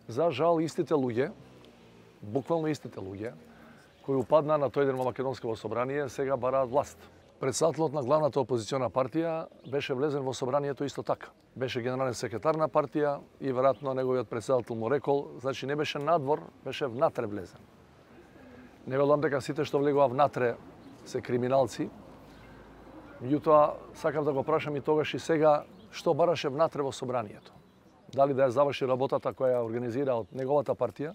За жал, истите луѓе, буквално истите луѓе, кои упаднаа на тој ден во Македонското собрание, сега бараат власт. Председателот на главната опозициона партија беше влезен во собранието исто така. Беше генерален секретар на партија и веројатно неговиот председател му рекол, значи не беше надвор, беше внатре влезен. Не велам дека сите што влегува внатре се криминалци. Меѓутоа, сакам да го прашам и тогаш и сега што бараше внатре во собранието. Дали да ја заврши работата која ја организира од неговата партија,